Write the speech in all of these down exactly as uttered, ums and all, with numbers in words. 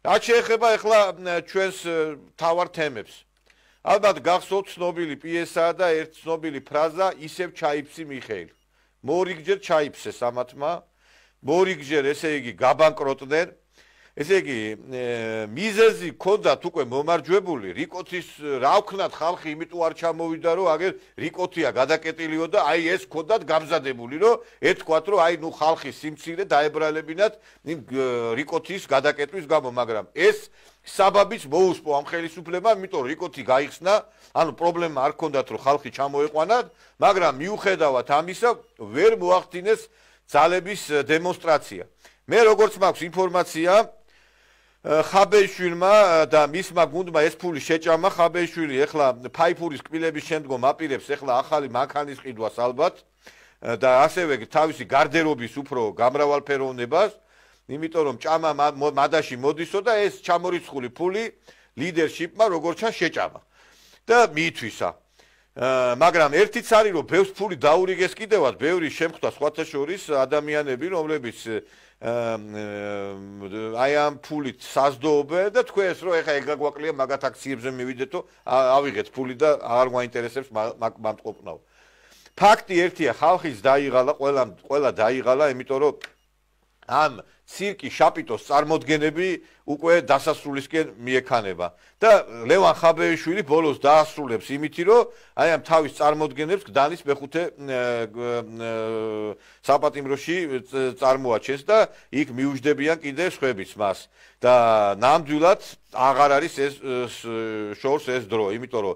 რაც შეეხება ახლა ჩვენს თავარ თემებს. ალბათ გახსოვთ ცნობილი პიესაა და ერთ ცნობილი ფრაზა ისევ ჩაიფსი მიხეილ. მორიგჯერ ჩაიფსეს ამათმა, მორიგჯერ ესე იგი გაბანკროტდნენ. ესე იგი მიზეზი ქონდათ უკვე მომარჯვებული, რიკოთის რა ვქნათ ხალხი იმიტომ არ ჩამოვიდა, რომ აგერ რიკოთია გადაკეტილიო და აი ეს ქონდათ გამზადებული, რომ ეთქვათ, რომ აი ნუ ხალხის სიმცირე დაებრალებინათ იმ რიკოთის გადაკეტვის გამო, მაგრამ ეს საბაბიც მოუსპო ამ ხელისუფლებამ, იმიტომ რიკოთი გაიხსნა, ანუ პრობლემა არ ქონდათ, რომ ხალხი ჩამოეყვანათ, მაგრამ მიუხედავად ამისა ვერ მოახდინეს ძალების დემონსტრაცია. მე როგორც მაქვს ინფორმაცია, ხაბეიშვილმა და მისმა გუნდმა ეს ფული შეჭამა. ხაბეიშვილი ახლა ფაიფურის კბილების შემდგომ აპირებს ახლა ახალი მანქანის ყიდვას ალბათ და ასევე თავისი გარდერობის უფრო გამრავალფეროვნებას, იმიტომ რომ ჭამა მადაში მოდისო და ეს ჩამორიცხული ფული ლიდერშიპმა როგორც ჩანს შეჭამა და მიითვისა. მაგრამ ერთიც არის რომ ბევრს ფული დაურიგეს კიდევაც, ბევრი შემხვდა სხვათა შორის ადამიანები, რომლებიც აი ამ ფულით საზდოობენ და თქვენ ეს რომ ეხა ეგ გაგვაკლია მაგათ აქციებზე მივიდეთო, ავიღეთ ფული და არ გვაინტერესებს მამტყობნაო. ფაქტი ერთია, ხალხის დაიღალა, ყველა ყველა დაიღალა, იმიტომ რომ ამ ცირკი შაპიტოს წარმოდგენები უკვე დასასრულისკენ მიექანება და ლევან ხაბეიშვილი ბოლოს დაასრულებს იმითი, რომ აი ამ თავის წარმოდგენებს გდანის მეხუთე საპატიმროში წარმოაჩენს და იქ მიუჯდებიან კიდე სხვებიც მას და ნამდვილად აღარ არის ეს შორს ეს დრო, იმიტომ რომ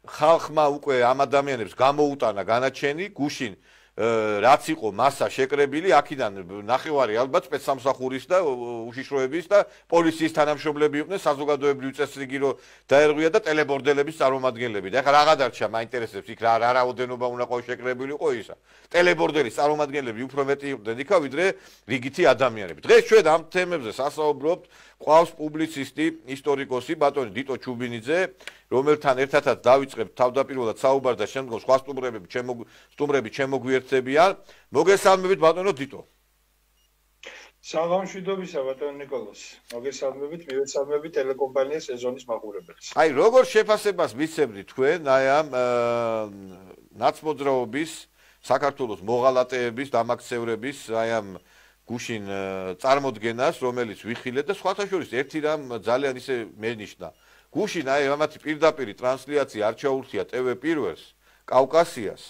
ხალხმა უკვე ამ ადამიანებს გამოუტანა განაჩენი, გუშინ რაც იყო მასა შეკრებილი, აქედან ნახევარი ალბათ სპეცსამსახურის და უშიშროების და პოლიციის თანამშრომლები იყვნენ, საზოგადოებრივი წესრიგი რო დაერღვია და ტელებორდელების წარმომადგენლები. და ეხლა რა გადარჩა, მაინტერესებს იქ რა რა რაოდენობა უნდა ყო შეკრებილი იყო ისა. ტელებორდელის წარმომადგენლები უფრო მეტი იყვნენ იქა, ვიდრე რიგითი ადამიანები. დღეს ჩვენ ამ თემებზე სასაუბრობთ, ყავს პუბლიცისტი, ისტორიკოსი ბატონი დიტო ჩუბინიძე, რომელთან ერთადაც დავიწყებთ თავდაპირველად საუბარ და შემდგომ სხვა სტუმრები სტუმრები შემოგვიერთებიან. მოგესალმებით ბატონო დიტო. საღამშვიდობისა ბატონო ნიკოლოზ. მოგესალმებით, მივესალმებით ტელეკომპანია სეზონის მაყურებელს. აი როგორ შეფასებას მისცემთ თქვენ აი ამ ნაცმოძრაობის, საქართველოს მოღალატეების, დამაქცევრების აი ამ გუშინ წარმოდგენას, რომელიც ვიხილეთ და სხვათა შორის ერთი რამ ძალიან ისე მენიშნა. გუშინ აი ამათი პირდაპირი ტრანსლაცია არ ჩაურთია ტევ პირველს, კავკასიას.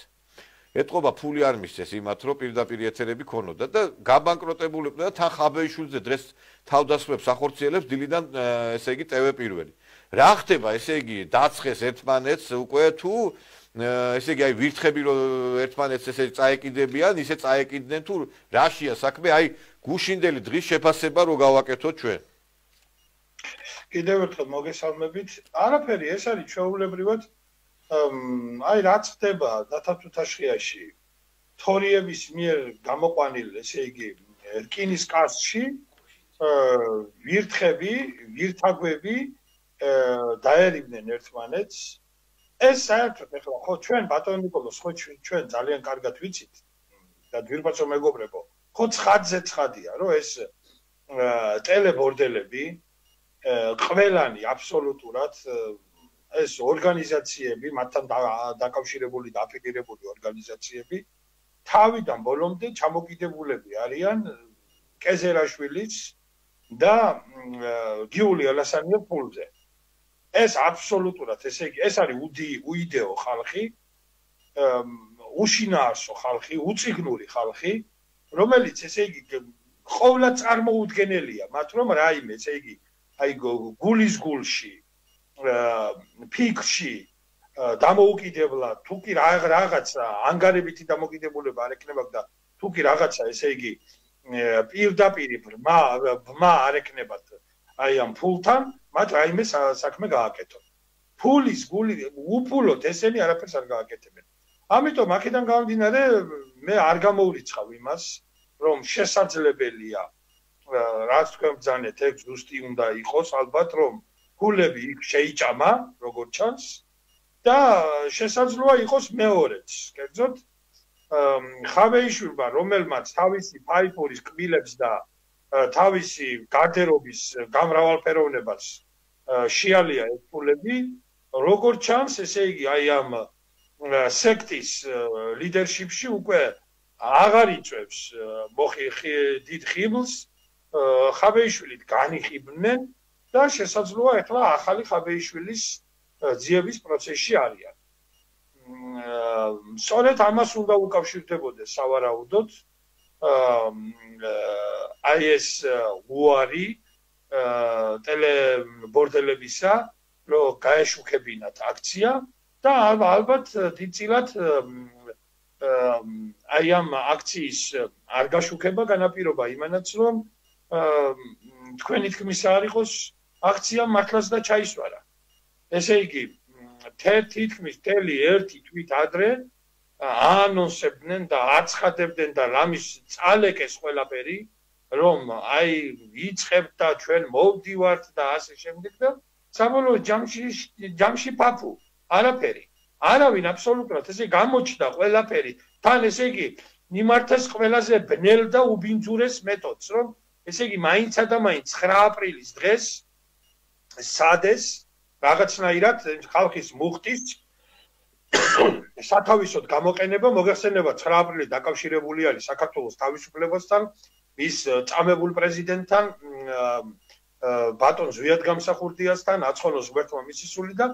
ეთყობა ფული არ მისცეს იმათ, რომ პირდაპირ ეთერები ქონოდა და გაბანკროტებულიყვნენ და თან ხაბეიშვილზე დღეს თავდასხმებს ახორციელებს დილიდან ესე იგი ტევ პირველი. რა ხდება, ესე იგი დაცხეს ერთმანეთს უკვე თუ ესე იგი აი ვირთხები რომ ერთმანეთს ესე წაეკიდებიან, ისე წაეკიდნენ თუ რაშია საქმე, აი გუშინდელი დღის შეფასება რო გავაკეთოთ ჩვენ. კიდევ ერთხელ მოგესალმებით. არაფერი, ეს არის ჩვეულებრივად აი რაც ხდება დათათუთაშხიაში თორიების მიერ გამოყვანილ, ესე იგი რკინის კარსტში ვირთხები, ვირთაგვები დაერივნენ ერთმანეთს. ეს საერთოდ ეხლა ხო ჩვენ ბატონო ნიკოლოზ, ხო ჩვენ ძალიან კარგად ვიცით და გვირბაცო მეგობრებო, ხო ცხადზე ცხადია, რომ ეს ტელებორდელები ყველანი აბსოლუტურად ეს ორგანიზაციები, მათთან დაკავშირებული და აფილირებული ორგანიზაციები თავიდან ბოლომდე ჩამოკიდებულები არიან კეზერაშვილის და გიული ალასანიას ფულზე. ეს აბსოლუტურად, ესე იგი, ეს არის უიდეო ხალხი, უშინაარსო ხალხი, უწიგნური ხალხი, რომელიც ესე იგი ყოვლად წარმოუდგენელია, მათ რომ რაიმე, ესე იგი, აი გულის გულში, ფიქრში დამოუკიდებლად, თუ კი რაღაცა ანგარებითი დამოკიდებულება არ ექნება და თუ კი რაღაცა, ესე იგი, პირდაპირ ბრმა ბრმა არ ექნებათ აი ამ ფულთან, მათ რაიმე საქმე გააკეთონ. ფულის გული უფულოდ ესენი არაფერს არ გააკეთებენ. ამიტომ აქედან გამომდინარე მე არ გამოვრიცხავ იმას, რომ შესაძლებელია რაც თქვენ ბრძანეთ, ეგ ზუსტი უნდა იყოს, ალბათ რომ ფულები იქ შეიჭამა, როგორც ჩანს და შესაძლოა იყოს მეორეც. კერძოდ ხაბეიშვილმა, რომელმაც თავისი ფაიფურის კბილებს და თავისი გარდერობის გამრავალფეროვნებას შეალია ეს ფულები, როგორც ჩანს, ესე იგი, აი ამ სექტის ლიდერშიპში უკვე აღარ იწევს დიდ ხიბლს, ხაბეიშვილით განიხიბნენ და შესაძლოა ახლა ახალი ხაბეიშვილის ძიების პროცესში არიან. სწორედ ამას უნდა უკავშირდებოდეს სავარაუდოდ აი ეს უარი ტელებორდელებისა, რომ გაეშუქებინათ აქცია და ალბათ დიდწილად აი ამ აქციის არ გაშუქება განაპირობა იმანაც, რომ თქვენი თქმისა არ იყოს აქცია მართლაც და ჩაისვარა. ესე იგი, თითქმის მთელი ერთი თვით ადრე აანონსებდნენ და აცხადებდნენ და რამის წალეკეს ყველაფერი, რომ აი იწყებთ და ჩვენ მოვდივართ და ასე შემდეგ და საბოლოო ჯამში ჯამში პაპუ არაფერი. არავინ აბსოლუტურად ესე გამოჩნდა ყველაფერი. თან ესე იგი მიმართეს ყველაზე ბნელ და უბინძურეს მეთოდს, რომ ესე იგი მაინცა და მაინც ცხრა აპრილის დღეს სადეს რაღაცნაირად ხალხის მუხტის სათავისოდ გამოყენება მოგეხსენება ცხრა აპრილი დაკავშირებული არის საქართველოს თავისუფლებასთან, მის წამებულ პრეზიდენტთან, ბატონ ზვიად გამსახურდიასთან, აცხონოს ღმერთმა მისი სული და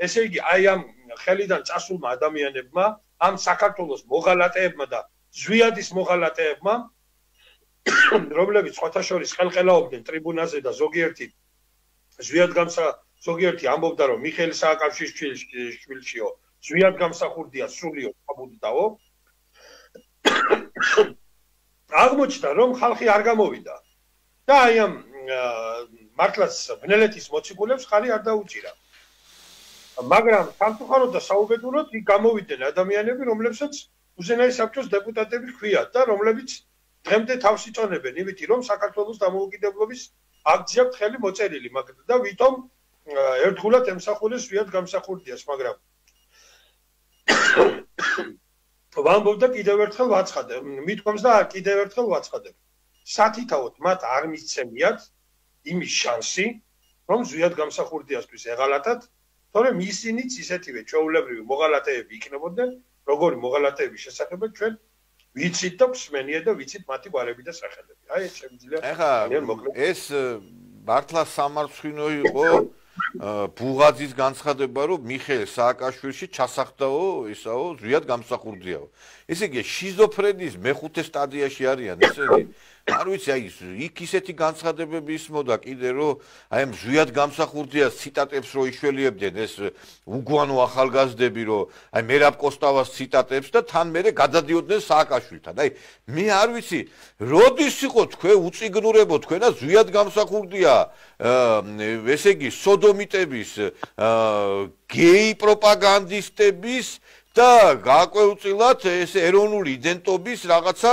ესე იგი აი ამ ხელიდან წასულმა ადამიანებმა, ამ საქართველოს მოღალატეებმა და ზვიადის მოღალატეებმა, რომლებიც სხვათა შორის ხელყელაობდნენ ტრიბუნაზე და ზოგიერთი ზვიად გამსა ზოგიერთი ამბობდა, რომ მიხეილ სააკაშვილიშვილიო ზვიად გამსახურდია სულიო აბუდდაო. აღმოჩნდა, რომ ხალხი არ გამოვიდა და აი ამ მართლაც ბნელეთის მოციქულებს ხალი არ დაუჭირა. მაგრამ სამწუხაროდ და საუბედუროდ იქ გამოვიდნენ ადამიანები, რომლებსაც უზენაეს საბჭოს დეპუტატები ჰქვიათ და რომლებიც დღემდე თავს იწონებენ, იმითი რომ საქართველოს დამოუკიდებლობის აქცია ხელი მოწერილი, მაგრამ და ვითომ ერთხულად ემსახურეს ზვიად გამსახურდიას, მაგრამ ვამბობდა კიდევ ერთხელ ვაცხადებ, მithქვამს და კიდევ ერთხელ ვაცხადებ. სათითაოდ მათ არ მისცემიათ იმის შანსი, რომ ზვიად გამსახურდიასთვის ეღალატათ, თორემ ისინიც ისეთივე ჩვეულებრივი მოღალატეები იქნებოდნენ, როგორი მოღალატეების შესახებ ჩვენ ვიცით და გვსმენია და ვიცით მათი გვარები და სახელები. აი ეს შემიძლია. ეხლა ეს მართლა სამარცხვინო იყო ბუღაძის განცხადება, რომ მიხეილ სააკაშვილში ჩასახდაო, ისაო, ზვიად გამსახურდიაო. ესე იგი, შიზოფრენიის მეხუთე სტადიაში არიან ესენი. არ ვიცი, აი იქ ისეთი განცხადებები ისმოდა კიდე, რომ აი ამ ზვიად გამსახურდიას ციტატებს რო იშველიებდნენ ეს უგვანო ახალგაზრდები, რომ აი მერაბ კოსტავას ციტატებს და თან მერე გადადიოდნენ სააკაშვილთან. აი მე არ ვიცი, როდის იყო თქვენ უწიგნურებო თქვენა ზვიად გამსახურდია, ესე იგი, სოდომიტების, გეი პროპაგანდისტების და გაკვეუწილად ეს ეროვნული იდენტობის რაღაცა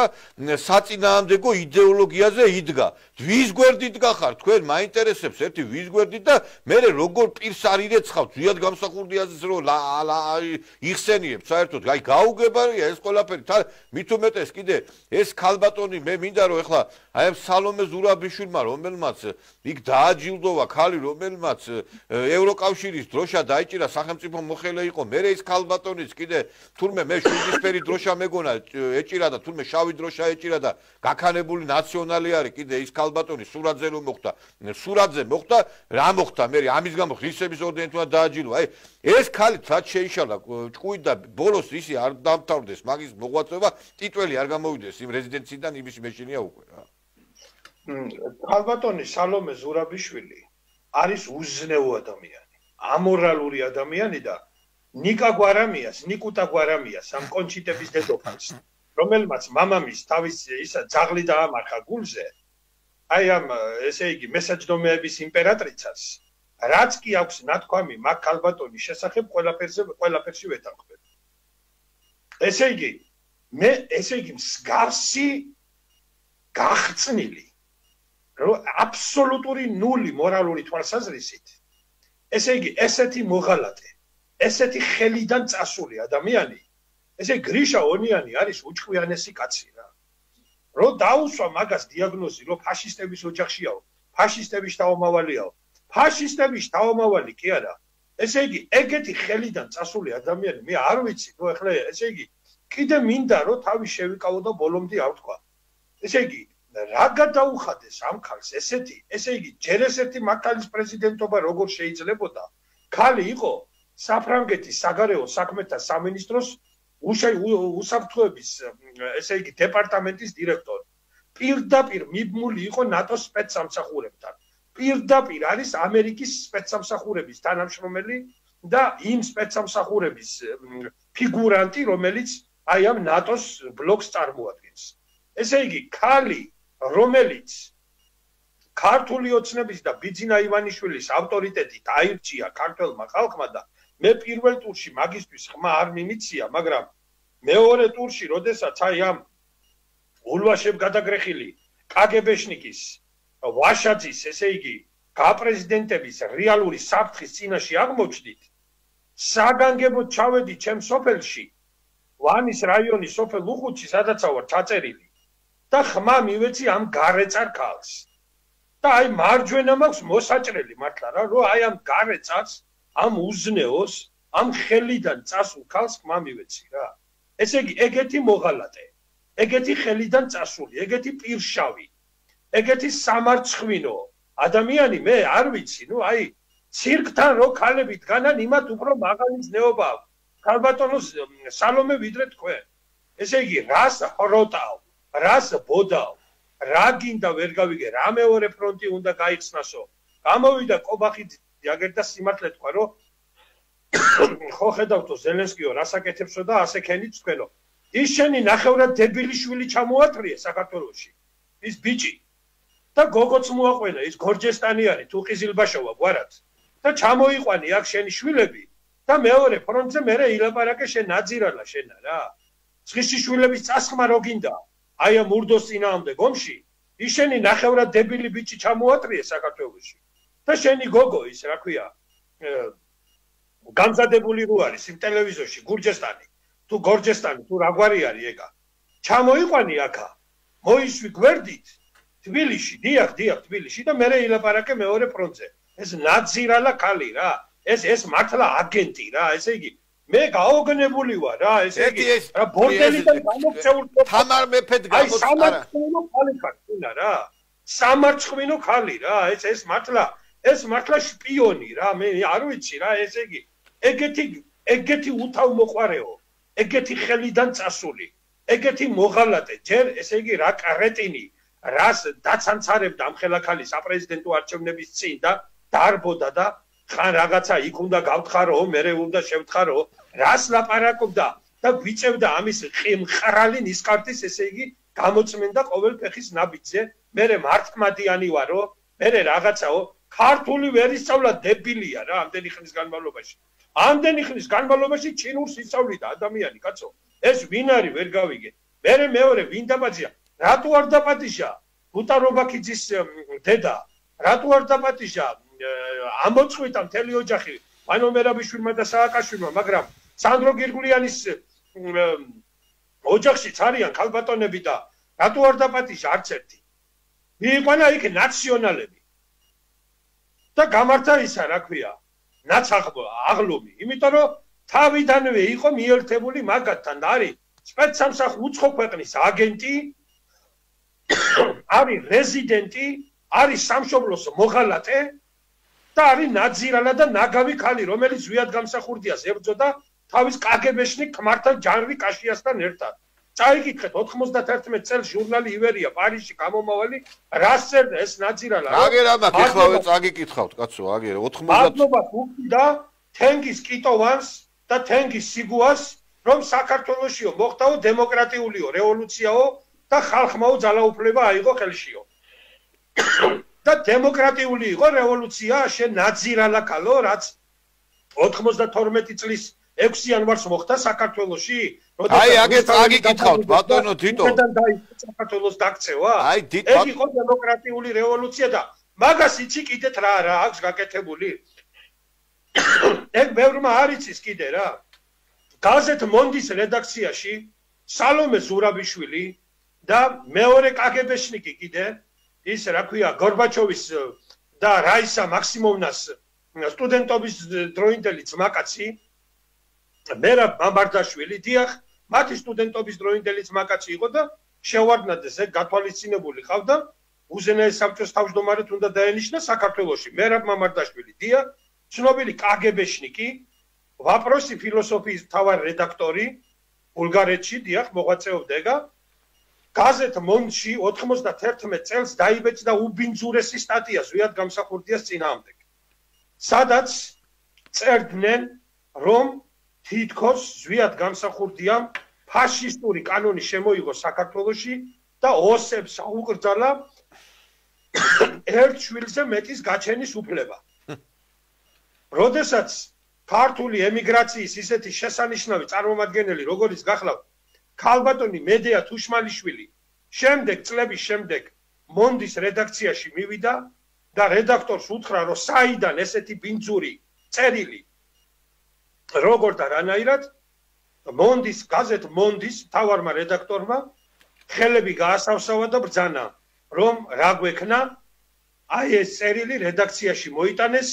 საწინააღმდეგო იდეოლოგიაზე იდგა. ვის გვერდით გახარ თქვენ მაინტერესებს ერთი ვის გვერდით და მე როგორ პირს არ ირეცხავთ ზვიად გამსახურდიაზეც რომ იხსენიებთ საერთოდ აი გაუგებარია ეს ყველაფერი თან მით უმეტეს კიდე ეს ქალბატონი მე მინდა რომ ეხლა აი ამ სალომე ზურაბიშვილმა რომელმაც იქ დააჯილდოვა ქალი რომელმაც ევროკავშირის დროშა დაიჭირა სახელმწიფო მოხელე იყო მე ეს ქალბატონიც კიდე თურმე მე შვიდისფერი დროშა მეგონა ეჭირა და თურმე შავი დროშა ეჭირა და გაქანებული ნაციონალი არის კიდე ის ქალბატონი სურაძე რომ მოხდა სურაძე მოხდა რა მოხდა მე ამის გამო ღირსების ორდენით უნდა დააჯილდო აი ეს ქალი რაც შეიშალა ჭკუით და ბოლოს ისი არ დამთავრდეს მაგის მოღვაწეობა ტიტველი არ გამოვიდეს იმ რეზიდენციიდან იმის მეშინია უკვე რა ქალბატონი სალომე ზურაბიშვილი არის უზნეო ადამიანი ამორალური ადამიანი და ნიკა გვარამიას ნიკუტა გვარამიას ამ კონჩიტების დედოფალს რომელმაც მამამის თავის ისა ძაღლი დაამარხა გულზე აი ამ ესე იგი მესაჯდომეების იმპერატრიცას რაც კი აქვს ნათქვამი მაგ ქალბატონის შესახებ ყველაფერზე ყველაფერში ვეთანხმებ ესე იგი მე ესე იგი მსგავსი გახწნილი რომ აბსოლუტური ნული მორალური თვალსაზრისით ესე იგი ესეთი მოღალატე ესეთი ხელიდან წასული ადამიანი ესე გრიშა ონიანი არის უჭკვიანესი კაცი რა რომ დაუსვა მაგას დიაგნოზი, რომ ფაშისტების ოჯახშიაო, ფაშისტების თავმავალიაო. ფაშისტების თავმავალი კი არა. ესე იგი, ეგეთი ხელიდან წასული ადამიანი, მე არ ვიცი, ნუ ეხლა ესე იგი, კიდე მინდა რომ თავი შევიკავო და ბოლომდე არ ვთქვა. ესე იგი, რა გადაუხადეს ამ ქალს ესეთი, ესე იგი, ჯერ ესეთი მართლის პრეზიდენტობა როგორ შეიძლებოდა? ქალი იყო საფრანგეთის საგარეო საქმეთა სამინისტროს უსაფრთხოების, ესე იგი, დეპარტამენტის დირექტორი. პირდაპირ მიბმული იყო ნატოს სპეცსამსახურებთან. პირდაპირ არის ამერიკის სპეცსამსახურების თანამშრომელი და იმ სპეცსამსახურების ფიგურანტი, რომელიც აი ამ ნატოს ბლოკს წარმოადგენს. ესე იგი, ქალი, რომელიც ქართული ოცნების და ბიძინა ივანიშვილის ავტორიტეტით აირჩია ქართველმა ხალხმა და მე პირველ ტურში მაგისტრის ხმა არ მიმიცია, მაგრამ მეორე ტურში, როდესაც აი ამ ულვაშებ გადაგრეხილი კაგებეშნიკის ვაშაძის, ესე იგი, გაპრეზიდენტების რეალური საფრთხის წინაშე აღმოჩნდით, საგანგებოდ ჩავედი ჩემ სოფელში, ვანის რაიონის სოფელ უხუთში, სადაც ვარ ჩაწერილი და ხმა მივეცი ამ გარეწარ ქალს. და აი მარჯვენა მაქვს მოსაჭრელი მართლა რა, რომ აი ამ გარეწარს, ამ უზნეოს, ამ ხელიდან წასულ ქალს ხმა მივეცი რა. ესე იგი, ეგეთი მოღალატე, ეგეთი ხელიდან წასული, ეგეთი პირშავი, ეგეთი სამარცხვინო ადამიანი მე არ ვიცი, ნუ აი ცირკთან რო ქალები დგანან, იმათ უფრო მაღალი ზნეობა აქვს. ქალბატონო სალომე ვიდრე თქვენ. ესე იგი, რას ხროტავ, რას ბოდავ, რა გინდა ვერ გავიგე, რა მეორე ფრონტი უნდა გაიხსნასო. გამოვიდა კობახიძე აგერ და სიმართლე თქვა, რომ ხო ხედავთო ზელენსკიო რას აკეთებსო და ასე ქენიც თქვენო. ის შენი ნახევრად დებილი შვილი ჩამოატრიე საქართველოში. ის ბიჭი და გოგოც მოაყვენა, ის გორჯესტანი არის, თუ ყიზილბაშოვა გვარად. და ჩამოიყვანი აქ შენი შვილები და მეორე ფრონტზე მერე ილაპარაკე შენ ნაძირალა შენა რა. ცხისი შვილების წასხმა რო გინდა? აი ამ ურდოს წინააღმდეგ ომში, ის შენი ნახევრად დებილი ბიჭი ჩამოატრიე საქართველოში. და შენი გოგო ის, რა ქვია, გამზადებული რო არის იმ ტელევიზორში გურჯესტანი, თუ გორჯესტანი, თუ რაგვარი არის ეგა. ჩამოიყვანი აქა, მოისვი გვერდით თბილისში, დიახ, დიახ, თბილისში და მერე ილაპარაკე მეორე ფრონტზე. ეს ნაძირალა ქალი რა, ეს ეს მართლა აგენტი რა, ესე იგი მე გაოგნებული ვარ რა, ესე იგი რა ბორდელიდან გამოქცეულ თამარ მეფედ გამოც არა. სამარცხვინო ქალი ხარ რა. სამარცხვინო ქალი რა, ეს ეს მართლა ეს მართლა შპიონი რა, მე არ ვიცი რა, ესე იგი ეგეთი ეგეთი უთავმოყარეო, ეგეთი ხელიდან წასული, ეგეთი მოღალატე, ჯერ ესე იგი რა კრეტინი, რას დაცანცარებდა ამ ხელაქალის საპრეზიდენტო არჩევნების წინ და დარბოდა და ხან რაღაცა იქ უნდა გავთხარო, მერე უნდა შევთხარო, რას ლაპარაკობდა და გვიწევდა ამის მყრალი ნისკარტის, ესე იგი გამოწმენდა ყოველ ფეხის ნაბიჯზე, მერე მართლმადიანი ვარო, მერე რაღაცაო, ქართული ვერ ისწავლა დებილია რა, ამდენი ხნის განმავლობაში. ამდენი ხნის განმავლობაში ჩინურს ისწავლიდა ადამიანი, კაცო. ეს ვინ არის ვერ გავიგე. მერე მეორე ვინ დაპატიჟა? რატო არ დაპატიჟა? გუტარობაქიძის დედა. რატო არ დაპატიჟა? ამოწყვიტა მთელი ოჯახი, ვანო მერაბიშვილმა და სააკაშვილმა, მაგრამ სანდრო გირგულიანის ოჯახშიც არიან ქალბატონები და რატო არ დაპატიჟა არც ერთი? მიიყვანა იქ ნაციონალები. და გამართა ისა, რა ქვია, ნაცაღლომი, იმიტომ რომ თავიდანვე იყო მიერთებული მაგათთან და არის სპეცსამსახ უცხო ქვეყნის აგენტი, არის რეზიდენტი, არის სამშობლოს მოღალატე და არის ნაძირალა და ნაგავი ქალი, რომელიც ზვიად გამსახურდიას ებრძოდა თავის კაგებეშნიკ ქმართან ჯანრი კაშიასთან ერთად. წაიკითხეთ ოთხმოცდაათი წელს ჟურნალი ივერია პარიზში გამომავალი რას წერდა ეს ნაძირალა. აგერ ამათ ეხლავე წაგიკითხავთ კაცო, აგერ ოცდაათი მადლობა და თენგის კიტოვანს და თენგის სიგუას, რომ საქართველოსიო მოხდაო დემოკრატიულიო რევოლუციაო და ხალხმაო ძალაუფლება აიღო ხელშიო. და დემოკრატიული იყო რევოლუცია, შენ ნაძირალა ქალო, რაც ოთხმოცდათორმეტი წლის ექვსი იანვარს მოხდა საქართველოში. აი, აგერ წაგიკითხავთ ბატონო თიტო. საქართველოს დაქცევა? აი, დიდ ეგ იყო დემოკრატიული რევოლუცია და მაგას იცი კიდეთ რა რა აქვს გაკეთებული? ეგ ბევრმა არ იცის კიდე რა. გაზეთ მონდის რედაქციაში სალომე ზურაბიშვილი და მეორე კაგებეშნიკი კიდე ის რა ქვია გორბაჩოვის და რაისა მაქსიმოვნას სტუდენტობის დროინდელი ძმაკაცი მერაბ მამარდაშვილი დიახ მათი სტუდენტობის დროინდელი ძმაკაცი იყო და შევარდნადეს ეგ გათვალისწინებული ყავდა უზენაეს საბჭოს თავმჯდომარედ უნდა დაენიშნა საქართველოში მერაბ მამარდაშვილი დიახ ცნობილი კაგებეშნიკი ვაპროსი ფილოსოფიის მთავარი რედაქტორი ბულგარეთში დიახ მოღვაწეობდა ეგა გაზეთ მონდში ოთხმოცდაერთმეტ წელს დაიბეჭდა უბინძურესი სტატია ზვიად გამსახურდიას წინააღმდეგ სადაც წერდნენ რომ თითქოს ზვიად გამსახურდიამ ფაშისტური კანონი შემოიღო საქართველოში და ოსებს აუკრძალა ერთ შვილზე მეტის გაჩენის უფლება. როდესაც ქართული ემიგრაციის ისეთი შესანიშნავი წარმომადგენელი როგორიც გახლავთ ქალბატონი მედეა თუშმალიშვილი შემდეგ წლების შემდეგ მონდის რედაქციაში მივიდა და რედაქტორს უთხრა რომ საიდან ესეთი ბინძური წერილი როგორ და რანაირად მონდის გაზეთ მონდის მთავარმა რედაქტორმა ხელები გაასავსავა და ბრძანა რომ რა გვექნა აი ეს წერილი რედაქციაში მოიტანეს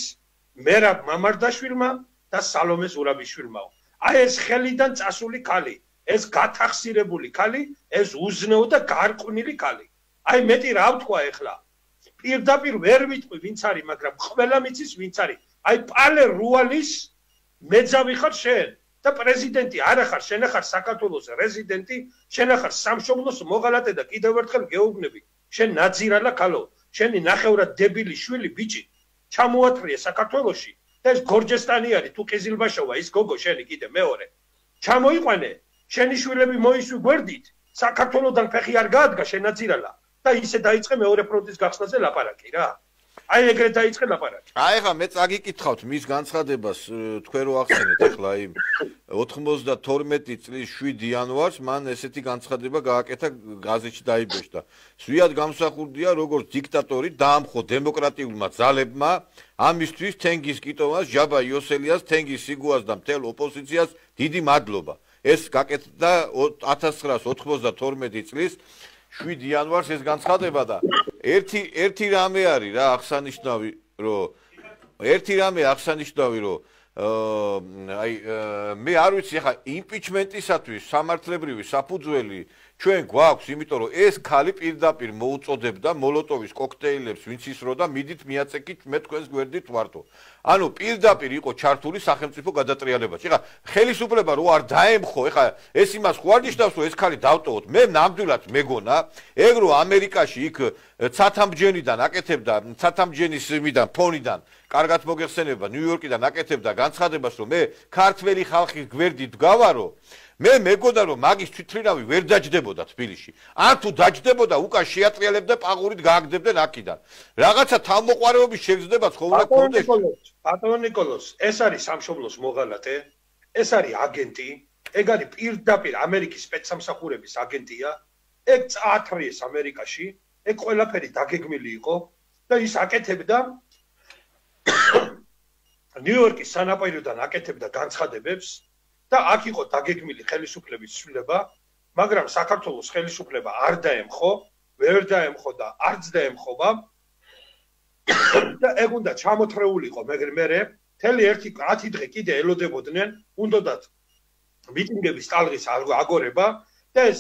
მერაბ მამარდაშვილმა და სალომე ზურაბიშვილმა აი ეს ხელიდან წასული ქალი ეს გათახსირებული ქალი ეს უზნეო და გარყვნილი ქალი აი მეტი რა ვთქვა ეხლა პირდაპირ ვერ ვიტყვი ვინც არის მაგრამ ყველა მიცის ვინც არის აი პალე რუალის მეძავი ხარ შენ და პრეზიდენტი არა ხარ შენ ხარ საქართველოს რეზიდენტი შენ ხარ სამშობლოს მოღალატე და კიდევ ერთხელ გეუბნები შენ ნაძირალა ქალო შენი ნახევრად დებილი შვილი ბიჭი ჩამოათრია საქართველოში და ეს გორჯესტანი არის თუ ყიზილბაშოვა ის გოგო შენი კიდე მეორე ჩამოიყვანე შენი შვილები მოისვი გვერდით საქართველოსთან ფეხი არ გაადგა შენაძირალა და ისე დაიწყე მეორე ფრონტის გახსნაზე ლაპარაკი რა აი ეგრეთ დაიწყე ლაპარაკი აი ხა მე წაგიკითხავთ მის განცხადებას თქვენ რო ახსენეთ ახლა იმ ოთხმოცდათორმეტი წლის შვიდ იანვარს მან ესეთი განცხადება გააკეთა გაზეთში დაიბეჭდა ზვიად გამსახურდია როგორც დიქტატორი დაამხო დემოკრატიულმა ძალებმა ამისთვის თენგის კიტოვას ჯაბა იოსელიას თენგის სიგუას და მთელ ოპოზიციას დიდი მადლობა ეს გაკეთდა ათას ცხრაას ოთხმოცდათორმეტი წლის შვიდ იანვარს ეს განცხადება და ერთი ერთი რამე არის რა აღსანიშნავი რომ ერთი რამე აღსანიშნავი რომ აი მე არ ვიცი ახლა იმპიჩმენტისათვის სამართლებრივი საფუძველი ჩვენ გვაქვს იმიტომ რომ ეს ქალი პირდაპირ მოუწოდებდა მოლოტოვის კოქტეილებს ვინც ისრო და მიდით მიაწეკით მე თქვენს გვერდით ვარტო ანუ პირდაპირ იყო ჩართული სახელმწიფო გადატრიალებაში ახლა ხელისუფლება რო არ დაემხო ახლა ეს იმას ხო არ ნიშნავს რომ ეს ქალი დავტოვოთ მე ნამდვილად მეგონა ეგ რო ამერიკაში იქ ცათამბჯენიდან აკეთებდა ცათამბჯენის მიდან ფონიდან კარგად მოგეხსენება ნიუ-იორკიდან აკეთებდა განცხადებას რომ მე ქართველი ხალხის გვერდით გავარო მე მეგონა რომ მაგის თვითმფრინავი ვერ დაჯდებოდა თბილისში ან თუ დაჯდებოდა უკან შეატრიალებდა პაღურით გააგდებდნენ აქიდან რაღაცა თავმოყარეობის შეგრძნებაც ხო უნდა გქონდეს ბატონო ნიკოლოზ ეს არის სამშობლოს მოღალატე ეს არის აგენტი ეგ არის პირდაპირ ამერიკის სპეცსამსახურების აგენტია ეგ წაათრიეს ამერიკაში ეგ ყველაფერი დაგეგმილი იყო და ის აკეთებდა ნიუ-იორკის სანაპიროდან აკეთებდა განცხადებებს და აქ იყო დაგეგმილი ხელისუფლების ცვლილება, მაგრამ საქართველოს ხელისუფლება არ დაემხო, ვერ დაემხო და არც დაემხობა და ეგ უნდა ჩამოთრეულიყო, მაგრამ მე მთელი ერთი ათი დღე კიდე ელოდებოდნენ, უნდათ მიტინგების ტალღის აგორება და ეს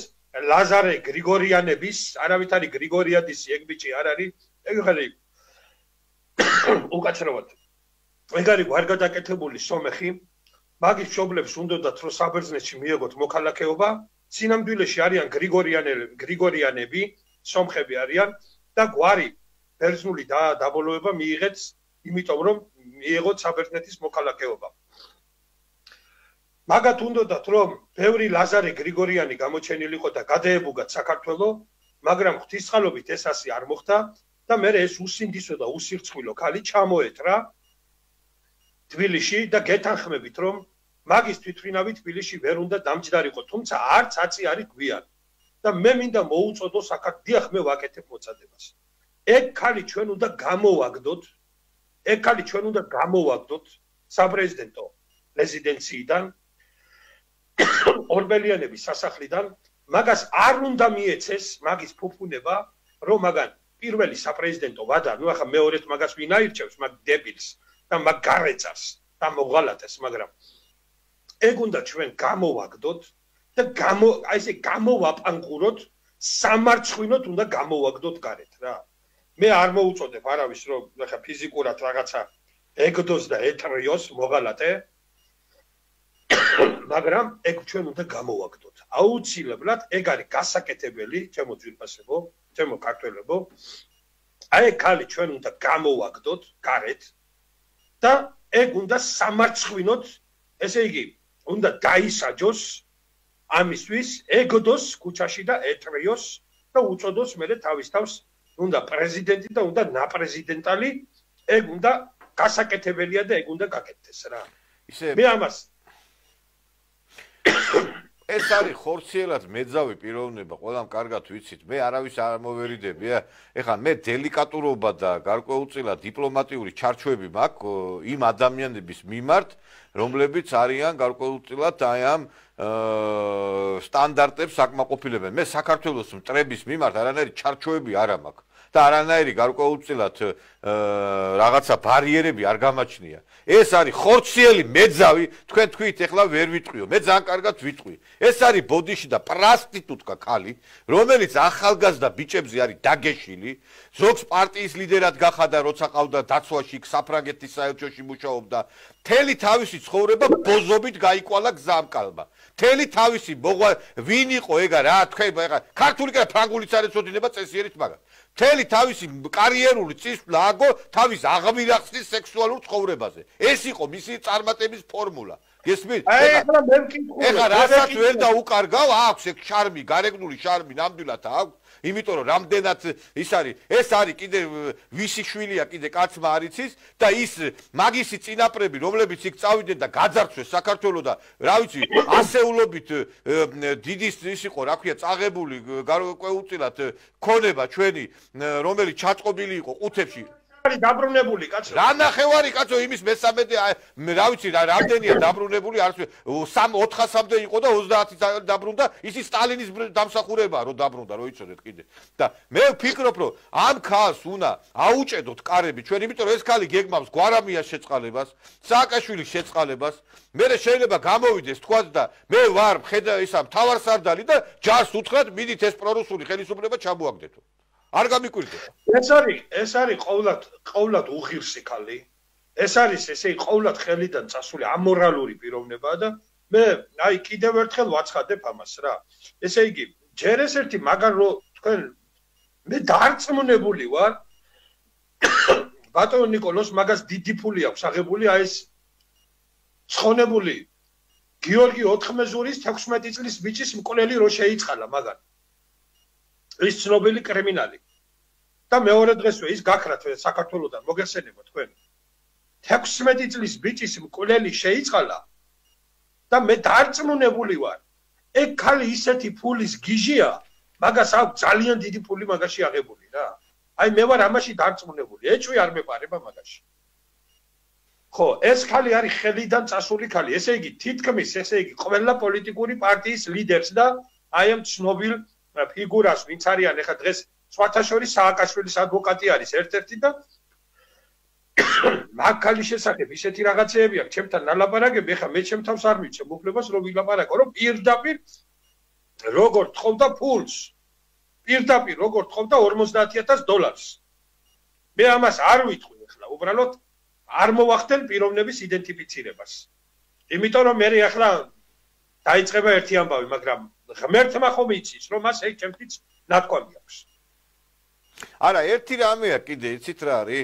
ლაზარე გრიგორიანების, არავითარი გრიგორიადისი ეგ ბიჭი არ არის, ეგ ხელი უკაცრავად. ეგ არის ვარგადაკეთებული სომეხი მაგის მშობლებს უნდათ რომ საბერძნეთში მიიღოთ მოქალაქეობა, სინამდვილეში არიან გრიგორიანელები, გრიგორიანები, სომხები არიან და გვარი ბერძნული დაბოლოება მიიღეთ, იმიტომ რომ მიიღოთ საბერძნეთის მოქალაქეობა. მაგათ უნდათ რომ ბევრი ლაზარე გრიგორიანი გამოჩენილიყო და გადაებუგათ საქართველო, მაგრამ ღვთისწყალობით ეს ასე არ მოხდა და მე ეს უსინდისო და უსირცხვილო ქალი ჩამოეთრა თბილისში და გეთანხმებით რომ მაგის თვითმფრინავი თბილისში ვერ უნდა დამჯდარიყო, თუმცა არც აცი არის გვიან. და მე მინდა მოუწოდო საქართველოს, დიახ მე ვაკეთებ მოწადებას. ეგ ქალი ჩვენ უნდა გამოვაგდოთ, ეგ ქალი ჩვენ უნდა გამოვაგდოთ საპრეზიდენტო რეზიდენციიდან ორბელიანების სასახლიდან, მაგას არ უნდა მიეცეს მაგის ფუფუნება, რომ მაგან პირველი საპრეზიდენტო ვადა, ნუ ახლა მეორედ მაგას ვინ აირჩევს, მაგ დებილს და მაგ გარეწარს და მოღალატეს, მაგრამ ეგ უნდა ჩვენ გამოვაგდოთ და გამო აი ესე გამოვაპანყუროთ, სამარცხვინოთ უნდა გამოვაგდოთ გარეთ რა. მე არ მოუწოდებ არავის რომ ახლა ფიზიკურად რაღაცა ეგდოს და ეთრიოს მოღალატე, მაგრამ ეგ ჩვენ უნდა გამოვაგდოთ. აუცილებლად ეგ არის გასაკეთებელი, ჩემო ძვირფასებო, ჩემო ქართველებო. აი ხალი ჩვენ უნდა გამოვაგდოთ გარეთ და ეგ უნდა სამარცხვინოთ, ესე იგი, უნდა დაისაჯოს ამისთვის ეგდოს ქუჩაში და ეთრიოს და უწოდოს მერე თავის თავს უნდა პრეზიდენტი და უნდა ნაპრეზიდენტალი, ეგ უნდა გასაკეთებელია და ეგ უნდა გაკეთდეს რა. ისე მე ამას ეს არის ხორციელად მეძავი პიროვნება, ყველამ კარგად ვიცით, მე არავის არ მოვერიდები, ეხლა მე დელიკატურობა და გარკვეულწილად დიპლომატიური ჩარჩოები მაქვს იმ ადამიანების მიმართ, რომლებიც არიან გარკვეულწილად აი ამ სტანდარტებს აკმაყოფილებენ. მე საქართველოს მტრების მიმართ არანაირი ჩარჩოები არ მაქვს და არანაირი გარკვეულწილად რაღაცა ბარიერები არ გამაჩნია. ეს არის ხორციელი მეძავი, თქვენ თქვით ეხლა ვერ ვიტყვიო, მე ძალიან კარგად ვიტყვი. ეს არის ბოდიში და პრასტიტუტკა ქალი, რომელიც ახალგაზრდა ბიჭებზე არის დაგეშილი, ზოგს პარტიის ლიდერად გახადა, როცა ყავდა დაცვაში, საფრანგეთის საელჩოში მუშაობდა. მთელი თავისი ცხოვრება ბოზობით გაიკვალა გზამკალმა. მთელი თავისი მოღვა ვინ იყო ეგა რა, თქვენ ეხლა ქართული და ფრანგულიც არ ეცოდინება წესიერით, მაგრამ მთელი თავისი კარიერული წისვლა აგო თავის აღმირახსნის სექსუალურ ცხოვრებაზე. ეს იყო მისი წარმატების ფორმულა. გესმით? ეხლა მე ვკითხულობ. ეხლა რასაც ვერ დაუკარგავ, აქვს ეგ შარმი, გარეგნული შარმი ნამდვილად აქვს. იმიტომ რომ რამდენად ის არის, ეს არის კიდე ვისი შვილია კიდე კაცმა არ იცის და ის მაგისი წინაპრები, რომლებიც იქ წავიდნენ და გაძარცვეს საქართველოს და რა ვიცი, ასეულობით დიდი ის იყო, რა ქვია, წაღებული გარკვეულწილად ქონება ჩვენი, რომელიც ჩაწყობილი იყო ყუთებში. არის დაბრუნებული კაცო. რა ნახევარი კაცო, იმის მესამედი, რა ვიცი, რა რამდენია დაბრუნებული, არ ვიცი, ოთხასამდე იყო და ოცდაათი დაბრუნდა, ისი სტალინის დამსახურებაა, რომ დაბრუნდა, რო იცოდეთ კიდე. და მე ვფიქრობ, რომ ამ ქალს უნდა აუჭედოთ კარები ჩვენ, იმიტომ რომ ეს ქალი გეგმავს გვარამიას შეწყალებას, სააკაშვილის შეწყალებას, მე შეიძლება გამოვიდეს თქვა და მე ვარ ხედა ისა მთავარსარდალი და ჯარს უთხრათ, მიდით ეს პრორუსული ხელისუფლება ჩამოაგდეთო. არ გამიკვირდება. ეს არის, ეს არის ყოვლად, ყოვლად უღირსი ქალი. ეს არის ესე ყოვლად ხელიდან წასული ამორალური პიროვნებაა და მე აი კიდევ ერთხელ ვაცხადებ ამას რა. ესე იგი, ჯერ ეს ერთი მაგარ რო თქვენ მე დარწმუნებული ვარ ბატონ ნიკოლოს მაგას დიდი ფული აქვს აღებული აი ეს ცხონებული გიორგი ოთხმეზურის თექვსმეტი წლის ბიჭის მკვლელი რო შეიწყალა მაგან. ის ცნობილი კრიმინალი. და მეორე დღესვე ის გაქრათ საქართველოსთან მოგეხსენება თქვენ. თექვსმეტი წლის ბიჭის მკვლელი შეიწყალა და მე დარწმუნებული ვარ. ეგ ქალი ისეთი ფულის გიჟია, მაგას აქვს ძალიან დიდი ფული მაგაში აღებული რა. აი მე ვარ ამაში დარწმუნებული. ეჭვი არ მეპარება მაგაში. ხო, ეს ქალი არის ხელიდან წასული ქალი. ესე იგი, თითქმის ესე იგი, ყველა პოლიტიკური პარტიის ლიდერს და აი ამ ცნობილ ფიგურას, ვინც არიან ეხა დღეს სხვათა შორის სააკაშვილის ადვოკატი არის ერთ-ერთი და მაგ ქალის შესახებ ისეთი რაღაცეები აქვს, ჩემთან ნალაპარაკები, ეხა მე ჩემ თავს არ მივცემ უფლებას რომ ვილაპარაკო, რომ პირდაპირ როგორ თხოვდა ფულს. პირდაპირ როგორ თხოვდა ორმოცდაათი ათას დოლარს. მე ამას არ ვიტყვი ეხლა, უბრალოდ არ მოვახდენ პიროვნების იდენტიფიცირებას. იმიტომ რომ მე ეხლა დაიწყება ერთი ამბავი, მაგრამ ღმერთმა ხომ იცის, რომ მას ეგ ჩემთვის ნათქვამი აქვს. არა, ერთი რამეა კიდე, იცით რა არის?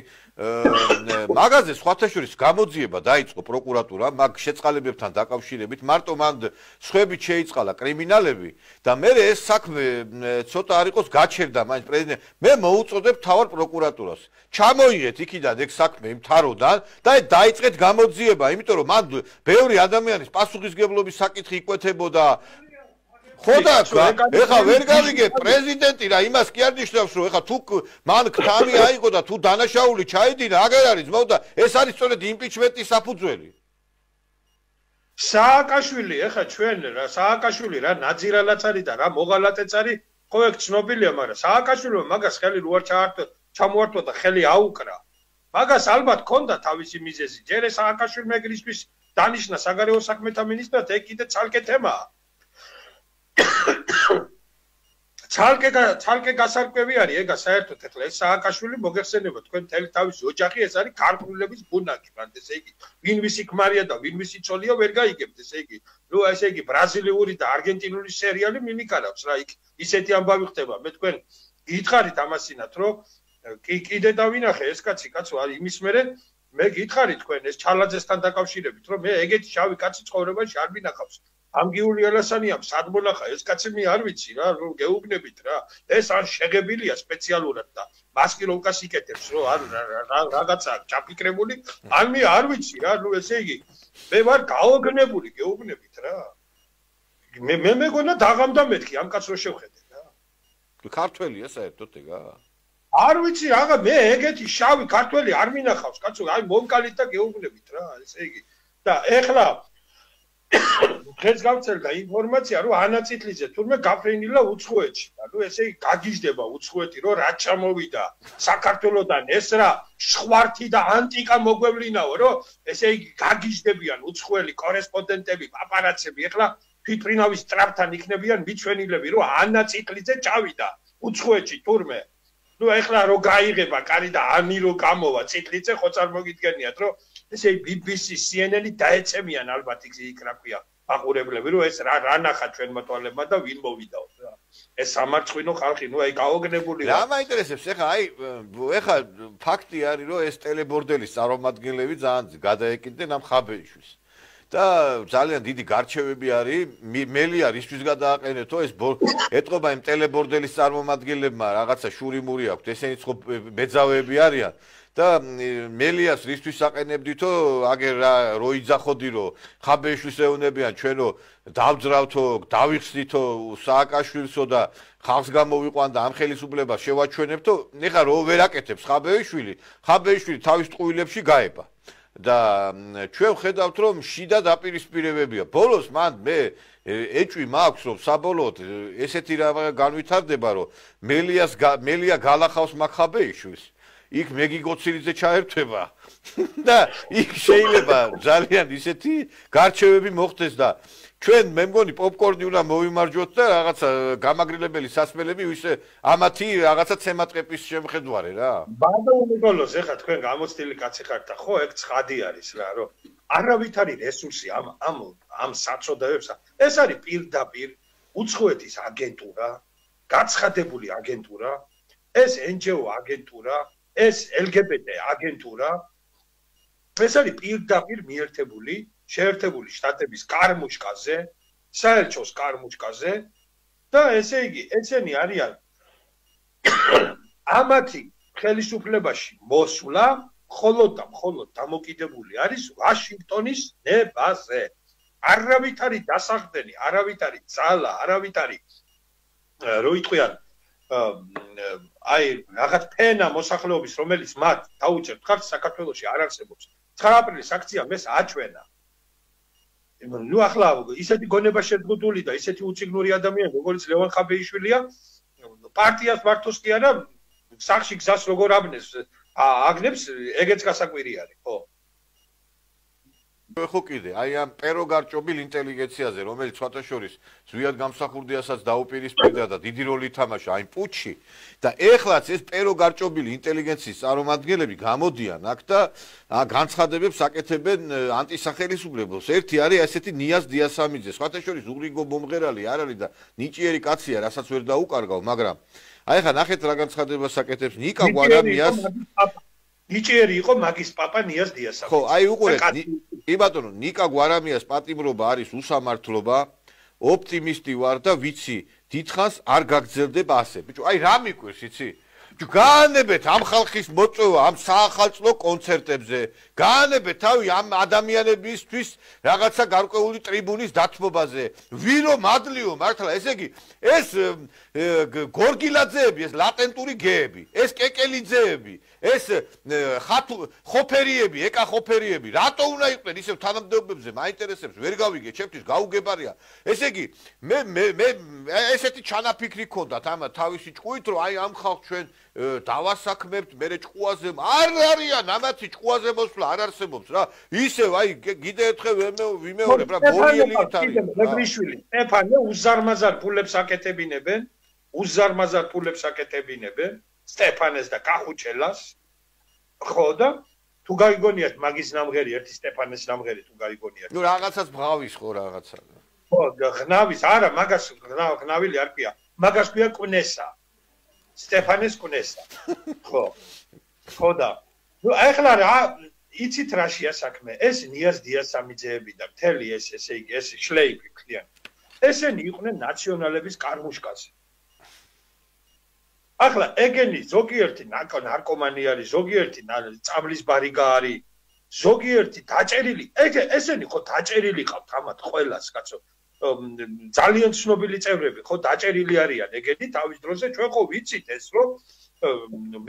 მაგაზე სხვათა შორის გამოძიება დაიწყო პროკურატურა, მაგ შეწყალებებთან დაკავშირებით, მარტო მან სხვებით შეიწყალა კრიმინალები და მე ეს საქმე ცოტა არ იყოს გაჩერდა მაინც პრეზიდენტ. მე მოუწოდებ მთავარ პროკურატურას. ჩამოიღეთ იქიდან ეგ საქმე იმთავროდან და დაიწყეთ გამოძიება, იმიტომ რომ მან ბევრი ადამიანის პასუხისგებლობის საკითხი იკვეთებოდა. ხოდა ეხა ვერ გავიგე პრეზიდენტი რა იმას კი არ ნიშნავს რომ ეხა თუ მან ქთამი აიღო და თუ დანაშაული ჩაიდინა აგერ არის ძმაო და ეს არის სწორედ იმპიჩმენტის საფუძველი. სააკაშვილი ეხა ჩვენ რა სააკაშვილი რა ნაძირალაც არის და რა მოღალატეც არის ხო ეგ ცნობილია მაგრამ სააკაშვილმა მაგას ხელი რო არ ჩაართვა ჩამოართვა და ხელი აუკრა მაგას ალბათ ქონდა თავისი მიზეზი ჯერ სააკაშვილმა ეგრისთვის დანიშნა საგარეო საქმეთა მინისტრად ეგ კიდე ცალკე თემაა ცალკე ცალკე გასარკვევი არის ეგა საერთოდ ეხლა ეს სააკაშვილი მოგეხსენება თქვენ მთელი თავისი ოჯახი ეს არის ქართულების ბუნაკი მანდ ესე იგი ვინ ვისი ქმარია და ვინ ვისი ცოლია ვერ გაიგებთ ესე იგი ნუ ესე იგი ბრაზილიური და არგენტინული სერიალი მიმიკარავს რა იქ ისეთი ამბავი ხდება მე თქვენ გითხარით ამასინათ რომ კი კიდე დავინახე ეს კაცი კაცო არის იმის მერე მე გითხარით თქვენ ეს ჩალაძესთან დაკავშირებით რომ მე ეგეთი შავი კაცი ცხოვრებაში არ მინახავს ამგიული ალასანია სადმონახა ეს კაცი მე არ ვიცი რა რომ გეუბნებით რა ეს არ შეღებილია სპეციალურად და მას კი რომ კაც იკეთებს რომ არ რაღაცა ჩაფიქრებული ან მე არ ვიცი რა ნუ ესე იგი მე ვარ გაოგნებული გეუბნებით რა მე მე მეგონა დაღამდა მეთქი ამ კაც რო შევხედე რა ქართველია საერთოდ ეგა არ ვიცი რაღა მე ეგეთი შავი ქართველი არ მინახავს კაცო აი მომკალით და გეუბნებით რა ესე იგი და ეხლა დღეს გავწერდა ინფორმაცია რომ ანა წითლიძე თურმე გაფრენილა უცხოეთში და ნუ ესე იგი გაგიჟდება უცხოეთი რომ რა ჩამოვიდა საქართველოსთან ეს რა ხვართი და ანტიკა მოგვევლინაო რომ ესე იგი გაგიჟდებიან უცხოელი კორესპონდენტები პაპარაცები ეხლა თვითფრინავის ტრაპთან იქნებიან მიჩვენილები რომ ანა წითლიძე ჩავიდა უცხოეთში თურმე ნუ ეხლა რო გაიღება კარი და ანი რო გამოვა წითლიძე ხო წარმოგიდგენიათ რომ ესე ბი ბი სი სი ენ ენი დაეცემიან ალბათ იქ რა ქვია აყურებლები რომ ეს რა რა ნახა ჩვენ მოტვალებმა და ვინ მოვიდაო რა ეს სამარცხვინო ხალხი ნუ აი გაოგნებული რა მაინტერესებს ეხა აი ეხა ფაქტი არის რომ ეს ტელებორდელის წარმომადგენლები ძალიან გადაეკიდნენ ამ ხაბეიშვილს და ძალიან დიდი გარჩევები არის მელია რისთვის გადააყენეთო ეს ეტყობა იმ ტელებორდელის წარმომადგენლებმა რაღაცა შურიმური აქვთ ესენიც ხო ბეძავები არიან და მელიას რისთვის აყენებდითო აგერ რო იძახოდი რომ ხაბეიშვილს ეუნებიან ჩვენო დავძრავთო დავიხსნითო სააკაშვილსო და ხალხს გამოვიყვან და ამ ხელისუფლებას შევაჩვენებთო ეხლა რო ვერ აკეთებს ხაბეიშვილი ხაბეიშვილი თავის ტყუილებში გაება და ჩვენ ხედავთ რომ შიდა დაპირისპირებებია ბოლოს მან მე ეჭვი მაქვს რომ საბოლოოდ ესეთი რა განვითარდება რომ მელიას მელია გალახავს მაგხაბეიშვილს იქ მეგიგოცილიძე ჩაერთვება და იქ შეიძლება ძალიან ისეთი გარჩევები მოხდეს და ჩვენ მე მგონი პოპკორნი უნდა მოვიმარჯვოთ და რაღაცა გამაგრილებელი სასმელები ისე ამათი რაღაცა ცემატყეპის შემხედვარე რა ბადო ნიკოლოზ ეხა თქვენ გამოცდილი კაცი ხართ და ხო ეგ ცხადი არის რა რომ არავით არის რესურსი ამ ამ ამ საწოდაებს ეს არის პირდაპირ უცხოეთის აგენტურა გაცხადებული აგენტურა ეს ენ ჯი ო აგენტურა ეს ელ გი ბი ტი აგენტურა ეს არის პირდაპირ მიერთებული შეერთებული შტატების კარმუშკაზე საელჩოს კარმუშკაზე და ესე იგი ესენი არიან ამათი ხელისუფლებაში მოსვლა მხოლოდ და მხოლოდ დამოკიდებული არის ვაშინგტონის ნებაზე არავით არის დასახდენი არავით არის ძალა არავით არის რო იტყვიან აი რაღაც ფენა მოსახლეობის რომელიც მათ დაუჭერთ ხართ საქართველოში არ არსებობს ცხრა აპრილის აქცია მეს აჩვენა ნუ ახლა ისეთი გონება შეზღუდული და ისეთი უციგნური ადამიანი როგორც ლევან ხაბეიშვილია პარტიას მართოს კი არა სახში გზას როგორ აბნეს აგნებს ეგეც გასაკვირი არის ხო ხო კიდე აი ამ პეროგარჭობილ ინტელიგენციაზე რომელიც სხვათაშორის ზვიად გამსახურდიასაც დაუპირისპირდა და დიდი როლი ითამაშა აი პუჩში და ეხლაც ეს პეროგარჭობილი ინტელიგენციის წარმომადგენლები გამოდიან აქ და განცხადებებს აკეთებენ ანტისახელისუფლებას ერთი არის ესეთი ნიაზ დიასამიძე სხვათაშორის უღრიგო მომღერალი არ არის და ნიჭიერი კაცია რასაც ვერ დაუკარგავ მაგრამ აი ხა ნახეთ რა განცხადებას აკეთებს ნიკა გვარამიას ნიჭიერი იყო მაგის პაპა ნიაზ დიასამიძე ხო აი უყურეთ კი ბატონო ნიკა გვარამიას პატიმრობა არის უსამართლობა ოპტიმისტი ვარ და ვიცი დიდხანს არ გაგრძელდება ასე ბიჭო აი რა მიკვირს იცი გაანებეთ ამ ხალხის მოწვევა ამ საახალწლო კონცერტებზე გაანებეთ თავი ამ ადამიანებისთვის რაღაცა გარკვეული ტრიბუნის დათმობაზე ვირო მადლიო მართლა ესე იგი ეს გორგილაძეები ეს ლატენტური გეები ეს კეკელიძეები ეს ხათუ ხოფერიები, ეკა ხოფერიები, რატო უნდა იყვნენ ისევ თანამდებობებზე, მაინტერესებს, ვერ გავიგე, ჩემთვის გაუგებარია. ესე იგი, მე მე მე ესეთი ჩანაფიქრი ქონდათ ამ თავისი ჭკუით, რომ აი ამ ხალხს ჩვენ დავასაქმებთ, მერე ჭკუაზე არ არიან, ამათი ჭკუაზე მოსვლა არ არსებობს რა. ისევ აი კიდე ერთხელ ვიმეორებ რა, ბოლიელით არის. მეგრიშვილი, სტეფანე უზარმაზარ ფულებს აკეთებინებენ, უზარმაზარ ფულებს აკეთებინებენ. სტეფანეს და კახუჩელას ხო და თუ გაიგონიათ მაგის ნამღერი ერთი სტეფანეს ნამღერი თუ გაიგონიათ ნუ რაღაცას ბღავის ხო რაღაცა ხო ღნავის არა მაგას ღნავილი არ ქვია მაგას ქვია კუნესა სტეფანეს კუნესა ხო ხო და ნუ ახლა რა იცით რაშია საქმე ეს ნიას დიასამიძეები და მთელი ეს ესე იგი ეს შლეიფი ქვიან ესენი იყვნენ ნაციონალების კარმუშკაზე ახლა ეგენი ზოგიერთი ნარკომანი არის, ზოგიერთი წამლის ბარიგა არის, ზოგიერთი დაჭერილი, ეგ ესენი ხო დაჭერილი ყავთ ამათ ყველას, კაცო. ძალიან ცნობილი წევრები ხო დაჭერილი არიან ეგენი თავის დროზე ჩვენ ხო ვიცით ეს რომ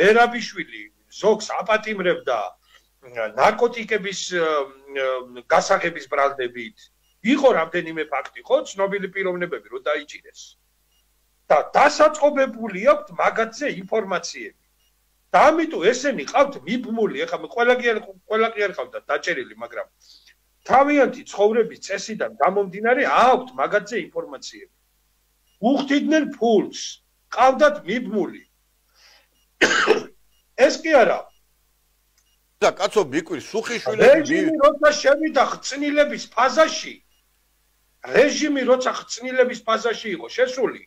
მერაბიშვილი ზოგს აპატიმრებდა ნარკოტიკების გასაღების ბრალდებით. იყო რამდენიმე ფაქტი ხო ცნობილი პიროვნებები რომ დაიჭირეს. და დასაწყობებული აქვს მაგათზე ინფორმაციები. და ამიტომ ესენი ყავთ მიბმული, ეხლა ყველა კი არ ყველა კი არ ყავდა დაჭერილი, მაგრამ თავიანთი ცხოვრების წესიდან გამომდინარე აქვთ მაგათზე ინფორმაციები. უხდიდნენ ფულს, ყავდათ მიბმული. ეს კი არა. და კაცო მიკვირს სუხიშვილები რეჟიმი როცა შევიდა ხწნილების ფაზაში, რეჟიმი როცა ხწნილების ფაზაში იყო შესული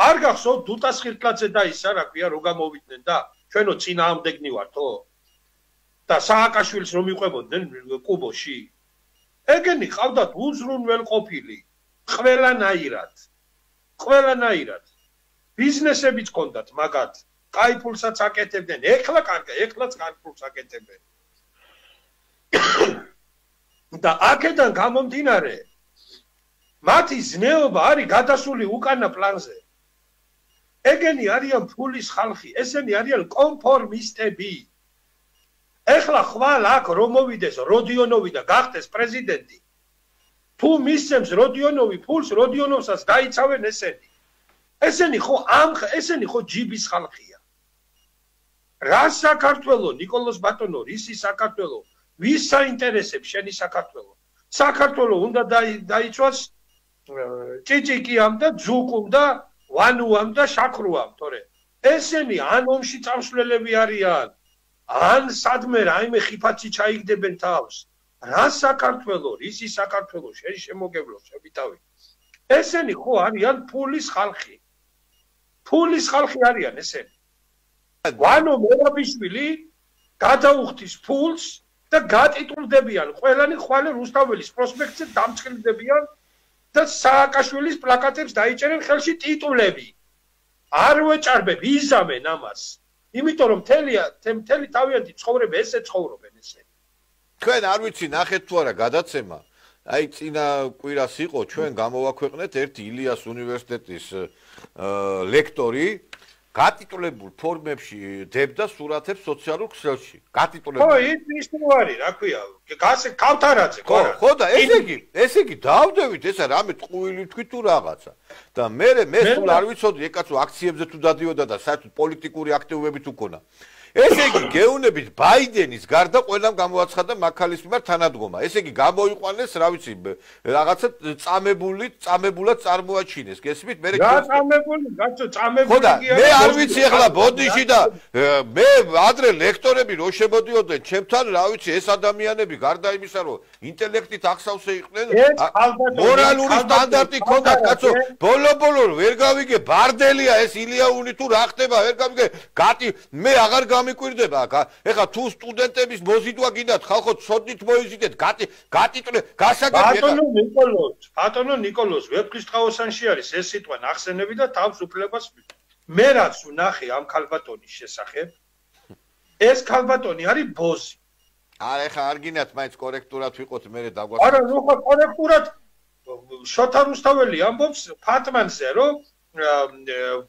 არ გახსოვთ დუტას ხირტლაძე და ისა რა ქვია რო გამოვიდნენ და ჩვენო წინააღმდეგნი ვართო და სააკაშვილს რომ იყვებოდნენ კუბოში ეგენი ყავდათ უზრუნველყოფილი ყველანაირად ყველანაირად ბიზნესებიც ჰქონდათ მაგათ კაი ფულსაც აკეთებდნენ ეხლა კარგი ეხლაც კარგი ფულს აკეთებენ და აქედან გამომდინარე მათი ზნეობა არის გადასული უკანა პლანზე ეგენი არიან ფულის ხალხი, ესენი არიან კონფორმისტები. ეხლა ხვალ აქ რომ მოვიდეს როდიონოვი და გახდეს პრეზიდენტი. თუ მისცემს როდიონოვი ფულს, როდიონოვსაც დაიცავენ ესენი. ესენი ხო ამ ესენი ხო ჯიბის ხალხია. რა საქართველო, ნიკოლოზ ბატონო, რისი საქართველო, ვის საინტერესებს შენი საქართველო? საქართველო უნდა დაიცვას ჭიჭიკიამ და ძუკუმ და ვანუამ და შაქრუამ, თორე ესენი ან ომში წამსვლელები არიან, ან სადმე რაიმე ხიფათი ჩაიგდებენ თავს. რა საქართველო, რისი საქართველო, შენ შემოგევლო, შევითავი. ესენი ხო არიან ფულის ხალხი. ფულის ხალხი არიან ესენი. ვანო მერაბიშვილი გადაუხდის ფულს და გატიტულდებიან, ყველანი ხვალე რუსთაველის პროსპექტზე დამწყილდებიან. და სააკაშვილის პლაკატებს დაიჭერენ ხელში ტიტულები. არ ვეჭარბებ, იზამენ ამას. იმიტომ რომ მთელია, მთელი თავიანთი ცხოვრება ესე ცხოვრობენ ესე. თქვენ არ ვიცი ნახეთ თუ არა გადაცემა. აი წინა კვირას იყო ჩვენ გამოვაქვეყნეთ ერთი ილიას უნივერსიტეტის ლექტორი გატიტულებულ ფორმებში დებდა სურათებს სოციალურ ქსელში. გატიტულებულ. ხო, ის ის არის, რა ქვია, გასე კავთარაძე, ხო, ხო და ესე იგი, ესე იგი დავდევით ესა რამე ტყუილი თქვი თუ რაღაცა. და მე მე სულ არ ვიცოდი, ეკაცო აქციებზე თუ დადიოდა და საერთოდ პოლიტიკური აქტივობები თუ ქონა. ესე იგი გეუნებით ბაიდენის გარდა ყველამ გამოაცხადა მაქალის მიმართ თანადგომა. ესე იგი გამოიყვანეს, რა ვიცი, რაღაცა წამებული, წამებულად წარმოაჩინეს. გესმით? მე რა წამებული, გაცო წამებული კი არა. მე არ ვიცი ახლა ბოდიში და მე ადრე ლექტორები რო შემოდიოდნენ ჩემთან, რა ვიცი, ეს ადამიანები გარდა იმისა, რომ ინტელექტით ახსავსე იყვნენ, მორალური სტანდარტი ჰქონდათ, კაცო. ბოლო-ბოლო ვერ გავიგე, ბარდელია ეს ილიაუნი თუ რა ხდება, ვერ გავიგე. გატი მე აღარ მიკვირდება აქ. ეხლა თუ სტუდენტების მოზიდვა გინდათ, ხალხო ცოდნით მოიზიდეთ, გატი გატიტულე, გასაგები ეხლა. ბატონო ნიკოლოზ, ბატონო ნიკოლოზ, ვეფხისტყაოსანში არის ეს სიტყვა ნახსენები და თავს უფლებას მე რაც ვნახე ამ ქალბატონის შესახებ, ეს ქალბატონი არის ბოზი. არა, ეხლა არ გინდათ მაინც კორექტულად ვიყოთ, მე დაგვაცხადოთ. არა, ნუ ხო კორექტულად შოთა რუსთაველი ამბობს ფატმანზე, რომ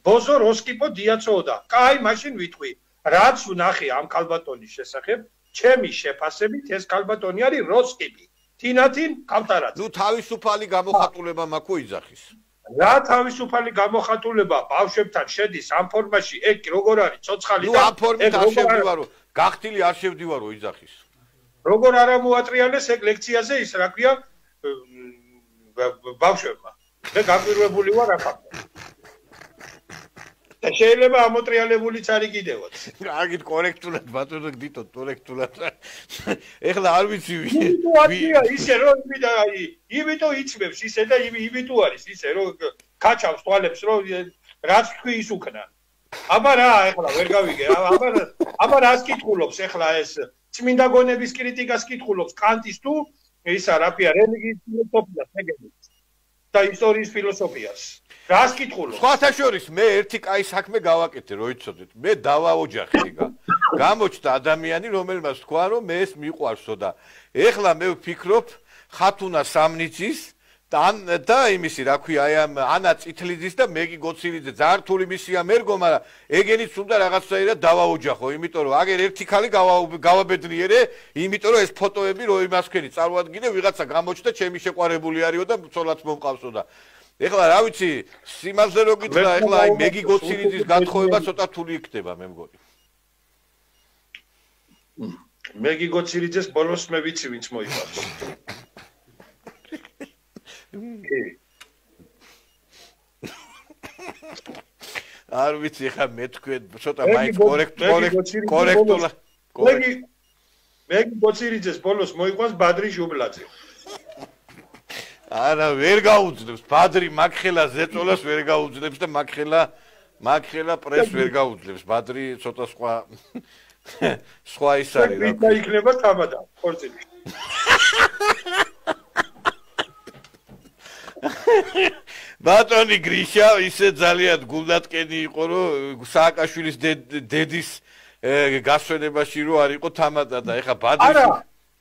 ბოზო როსკიპო დიაცოოდა. კაი, მაშინ ვიტყვი. რაც ვნახე ამ ქალბატონის შესახებ, ჩემი შეფასებით ეს ქალბატონი არის როსკიპი. თინათინ კავტარაძე. ნუ თავისუფალი გამოხატულება მაქვს იძახის. რა თავისუფალი გამოხატულება ბავშვებთან შედის ამ ფორმაში, ეგ როგორ არის ცოცხალი და ნუ ამ ფორმით არ შევდივარო, გახტილი არ შევდივარო იძახის. როგორ არა მოატრიალეს ეგ ლექციაზე ის რა ქვია ბავშვებმა. მე გაგვირვებული ვარ ახლა. და შეიძლება ამოტრიალებულიც არის კიდევაც. კარგი კორექტულად ბატონო გდიტოთ კორექტულად. ეხლა არ ვიცი ისე რომ იმიდა აი იმიტომ იწმევს ისე და იმიტომ არის ისე რომ კაჩავს თვალებს რომ რაც თქვი ის უკნა. აბა რა ეხლა ვერ გავიგე. აბა აბა რას კითხულობს ეხლა ეს წმინდა გონების კრიტიკას კითხულობს კანტის თუ ისა რა ქვია რელიგიის ფილოსოფიას ეგრეთ და ისტორიის ფილოსოფიას. რას კითხულობ? სხვათა შორის მე ერთი კაი საქმე გავაკეთე, რო იცოდეთ. მე დავაოჯახე იგა. გამოჩნდა ადამიანი, რომელმაც თქვა, რომ მე ეს მიყვარსო და ეხლა მე ვფიქრობ, ხათუნა სამნიცის და და იმისი, რა ქვია, აი ამ ანა წითლიძის და მეგი გოცილიძე ძართული მისია მერგო, მაგრამ ეგენიც უნდა რაღაცაირად დავაოჯახო, იმიტომ რომ აგერ ერთი ქალი გავაბედნიერე, იმიტომ რომ ეს ფოტოები რო იმას ქენი წარმოადგინე, ვიღაცა გამოჩნდა, ჩემი შეყვარებული არისო და ცოლაც მომყავსო და ეხლა რა ვიცი, სიმაზე რო გითხრა, ეხლა აი მეგი გოცილიძის გათხოვება ცოტა რთული იქნება, მე მგონი. მეგი გოცილიძეს ბოლოს მე ვიცი, ვინც მოიყვანს. არ ვიცი, ეხლა მე თქვენ ცოტა მაინც კორექტულად. მეგი მეგი გოცილიძეს ბოლოს მოიყვანს ბადრი ჟუბლაძე. არა ვერ გაუძლებს ბადრი მაგხელა ზეწოლას ვერ გაუძლებს და მაგხელა მაგხელა პრეს ვერ გაუძლებს ბადრი ცოტა სხვა სხვა ის არის რა ვიდა იქნება თამადა ხორცელი ბატონი გრიშა ისე ძალიან გულდატკენი იყო რომ სააკაშვილის დედის გასვენებაში რო არ იყო თამადა და ეხა ბადრი არა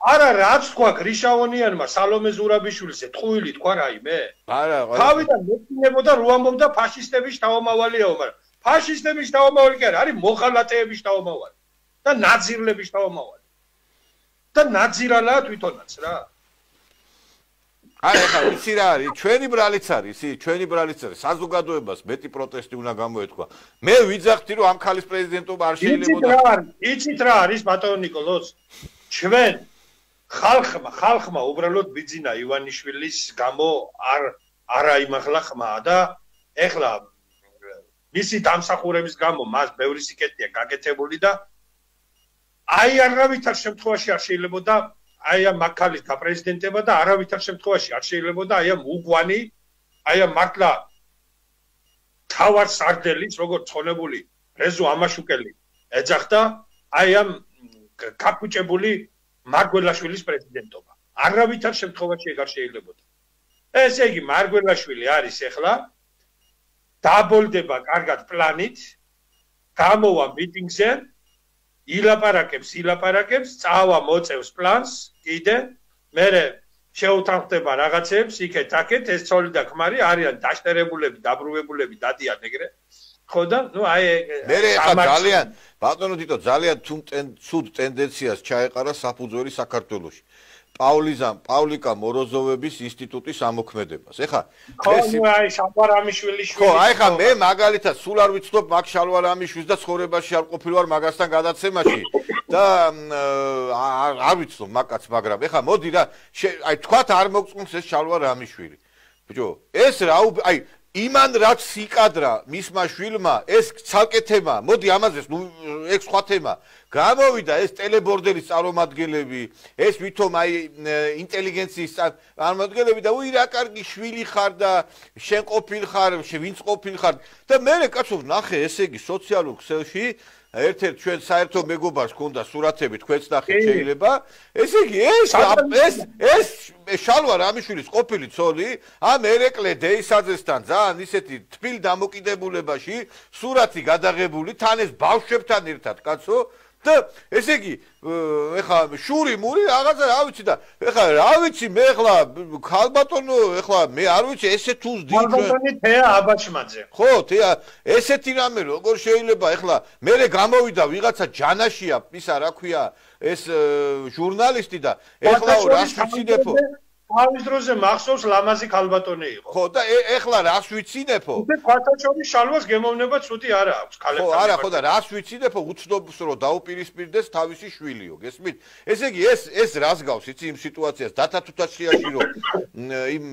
არა რაც თქვა გრიშაონიანმა სალომე ზურაბიშვილის ეთხოვილი თქვა რაიმე არა თავიდან მეცნებოდა რო ამბობდა ფაშისტების თავმავალიაო მაგრამ ფაშისტების თავმავალი კი არა არის მოხალატეების თავმავალი და ნაძირლების თავმავალი და ნაძირალა თვითონაც რა აი ახლა იცი რა არის ჩვენი ბრალიც არის ისი ჩვენი ბრალიც არის საზოგადოებას მეტი პროტესტი უნდა გამოეთქვა მე ვიძახთი რომ ამ ხალის პრეზიდენტობა არ შეიძლებოდა იცით რა არის ბატონო ნიკოლოზ ჩვენ ხალხმა ხალხმა უბრალოდ ბიძინა ივანიშვილის გამო არ არა იმახლა ხმა და ეხლა მისი დამსახურების გამო მას ბევრი სიკეთეა გაკეთებული და აი არავითარ შემთხვევაში არ შეიძლებოდა აი ამ მაქალის გაპრეზიდენტება და არავითარ შემთხვევაში არ შეიძლებოდა აი ამ უგვანი აი ამ მართლა თავარ სარდელის როგორც ხონებული რეზო ამაშუკელი ეძახდა აი ამ კაპუჭებული მარგველაშვილის პრეზიდენტობა. არავითარ შემთხვევაში ეგ არ შეიძლებოდა. ესე იგი მარგველაშვილი არის ახლა დაბოლდება კარგად პლანით, გამოვა მიტინგზე, ილაპარაკებს, ილაპარაკებს, წავა მოწევს პლანს, კიდე მერე შეუთანხმდება რაღაცებს, იქეთ აქეთ ეს ცოლი და ქმარი არიან დაშტერებულები, დაბრუნებულები, დადიან ეგრე. ხო და ნუ აი მე ხა ძალიან ბატონო თითო ძალიან ცუდ ტენდენციას ჩაეყარა საფუძველი საქართველოში. პავლიზამ პავლიკა მოროზოვების ინსტიტუტის ამოქმედებას. ეხა ხო აი შალვარამიშვილის შვილი. ხო აი ხა მე მაგალითად სულ არ ვიცნობ მაგ შალვარამიშვილს და ცხოვრებაში არ ყოფილვარ მაგასთან გადაცემაში და არ ვიცნობ მაგაც მაგრამ ეხა მოდი რა აი თქვათ არ მოგწონს ეს შალვარამიშვილი. ბიჭო ეს რა აი იმან რაც სიკადრა მისმა შვილმა ეს ცალკე თემა მოდი ამაზეც ნუ ეგ სხვა თემა გამოვიდა ეს ტელებორდელის წარმომადგენლები ეს ვითომ აი ინტელიგენციის წარმომადგენლები და უი რა კარგი შვილი ხარ და შენ ყოფილ ხარ ვინც ყოფილ ხარ და მე კაცო ნახე ესე იგი სოციალურ ქსელში ერთ-ერთ ჩვენ საერთო მეგობარს ქონდა სურათები თქვენც ნახეთ შეიძლება ესე იგი ეს ეს ეს შალვა რამიშვილის ყოფილი ცოლი ამ ერეკლე დეისაძესთან ძალიან ისეთი თბილ დამოკიდებულებაში სურათი გადაღებული თან ეს ბავშვებთან ერთად კაცო და ესე იგი ეხლა შური მური რაღაცა რა ვიცი და ეხლა რა ვიცი მე ეხლა ქალბატონო ეხლა მე არ ვიცი ესე თუ ვსდი ქალბატონი თეა აბაჩმაძე ხო თეა ესეთი რამე როგორ შეიძლება ეხლა მე გამოვიდა ვიღაცა ჯანაშია ისა რა ქვია ეს ჟურნალისტი და ეხლა რას ვიცინებო თავის დროზე მახსოვს ლამაზი ქალბატონი იყო. ხო და ეხლა რას ვიცინებო? უკვე ქალბატონის შალვას გემოვნება ცუდი არა აქვს ქალებთან. ხო, არა, ხო და რას ვიცინებო? უცნობს რომ დაუპირისპირდეს თავისი შვილიო, გესმით? ესე იგი ეს ეს რას გავს იცი იმ სიტუაციას დათათუთაშიაში რომ იმ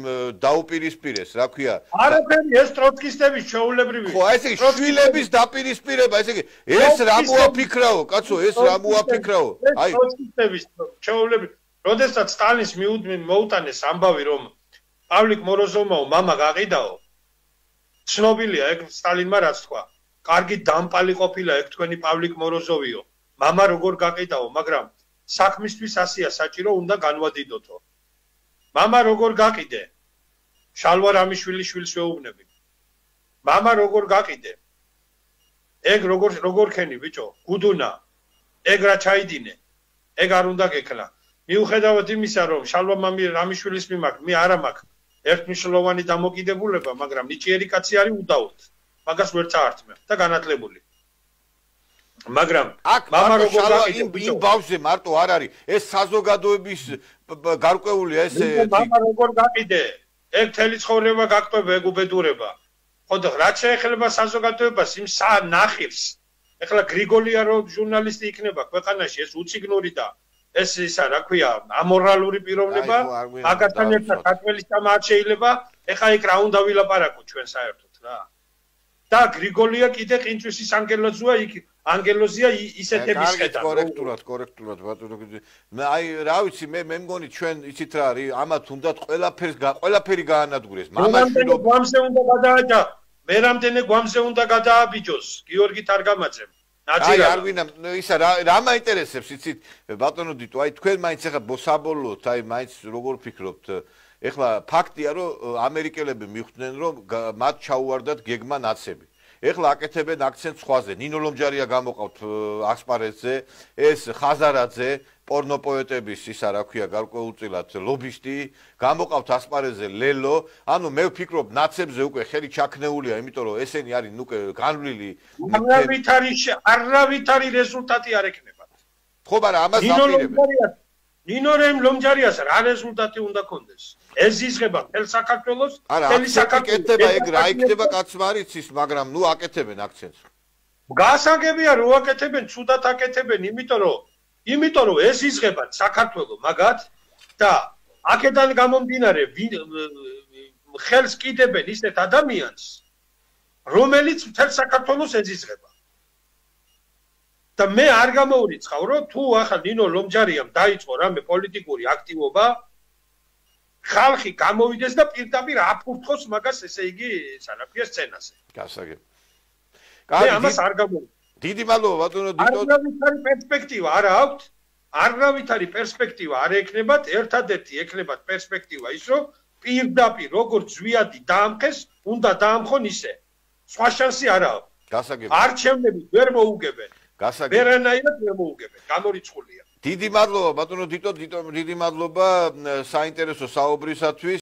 დაუპირისპირეს, რა ქვია? არაფერი ეს ტროცკისტების ჩაულებრივი. ხო, ესე იგი შვილების დაპირისპირება, ესე იგი ეს რა მოაფიქრაო, კაცო, ეს რა მოაფიქრაო? აი ტროცკისტების ჩაულებრივი როდესაც სტალინს მოუტანეს ამბავი რომ პავლიკ მოროზოვმაო მამა გაყიდაო ცნობილია ეგ სტალინმა რაც თქვა კარგი დამპალი ყოფილა ეგ თქვენი პავლიკ მოროზოვიო მამა როგორ გაყიდაო მაგრამ საქმისთვის ასია საჭირო უნდა განვადიდოთო მამა როგორ გაყიდე შალვა რამიშვილი შვილს ვეუბნები მამა როგორ გაყიდე ეგ როგორ როგორ ხენი ბიჭო გუდუნა ეგ რა ჩაიდინე ეგ არ უნდა გექლა მიუხედავად იმისა, რომ შალვა მამი რამიშვილის მიმართ მე არ მაქვს ერთმნიშვნელოვანი დამოკიდებულება, მაგრამ ნიჭიერი კაცი არის უდაოდ. მაგას ვერ წაართმევ და განათლებული. მაგრამ მამა როგორ გაიყიდა იმ ბავშვზე მარტო არ არის ეს საზოგადოების გარკვეულია ეს მამა როგორ გაიყიდე? ეგ თელი ცხოვრება გაკეთება ეგ უბედურება. ხო და რა შეეხება საზოგადოებას იმ ნახირს. ეხლა გრიგოლია რო ჟურნალისტი იქნება ქვეყანაში ეს უციგნური და ეს ისა რა ქვია ამორალური პიროვნება მაგასთან ერთად საქართველოს თამარ შეიძლება ეხა იქ რა უნდა ვილაპარაკო ჩვენ საერთოდ რა და გრიგოლია კიდე ყინწვისის ანგელოზია იქ ანგელოზია ისეთების ხედა კორექტულად კორექტულად ბატონო მე აი რა ვიცი მე მე მგონი ჩვენ იცით რა არის ამათ უნდათ ყველაფერს ყველაფერი გაანადგურეს მამაშვილო გვამზე უნდა გადააჭა მე რამდენი გვამზე უნდა გადააბიჯოს გიორგი თარგამაძემ აი არ ვინა ისა რა რა მაინტერესებს იცით ბატონო დიტო აი თქვენ მაინც ახლა საბოლოოდ აი მაინც როგორ ფიქრობთ ეხლა ფაქტია რომ ამერიკელები მიხვდნენ რომ მათ ჩაუვარდათ გეგმა ნაცები ეხლა აკეთებენ აქცენტს სხვაზე ნინო ლომჯარია გამოყავთ ასპარეზზე ეს ხაზარაძე პორნოპოეტების ისა რა ქვია გარკვეულწილად ლობისტი გამოყავთ ასპარეზზე ლელო ანუ მე ვფიქრობ ნაცებზე უკვე ხელი ჩაქნეულია იმიტომ რომ ესენი არის ნუ განვლილი არავითარი არავითარი რეზულტატი არ ექნება ხო მაგრამ ამას აპირებენ ნინო ლომჯარიას რა რეზულტატი უნდა კონდეს ეზიზღება თელ საქართველოს თელი საქართველოს აკეთება ეგ რა იქნება კაცმა არ იცის მაგრამ ნუ აკეთებენ აქცენტს გასაგებია რო აკეთებენ ცუდად აკეთებენ იმიტომ რომ იმიტომ რომ ეს იზღება საქართველოს მაგათ და აქედან გამომდინარე ხელს კიდებენ ისეთ ადამიანს რომელიც მთელ საქართველოს ეზიზღება და მე არ გამოურიცხავ რომ თუ ახლა ნინო ლომჯარიამ დაიწყო რამე პოლიტიკური აქტივობა ხალხი გამოვიდეს და პირდაპირ აფურთხოს მაგას ესე იგი სანაფია სცენაზე გასაგები კაი ამას არ გამოვიდა დიდი მადლობა ბატონო დიტო არავითარი პერსპექტივა არ აქვს არავითარი პერსპექტივა არ ექნებათ ერთადერთი ექნებათ პერსპექტივა ის რომ პირდაპირ როგორც ზვიადი დაამხეს უნდა დაამხონ ისე სხვა შანსი არ აქვს გასაგები არჩევნები ვერ მოუგებენ გასაგები ვერანაირად ვერ მოუგებენ გამორიცხულია დიდი მადლობა ბატონო დიტო დიდი მადლობა საინტერესო საუბრისათვის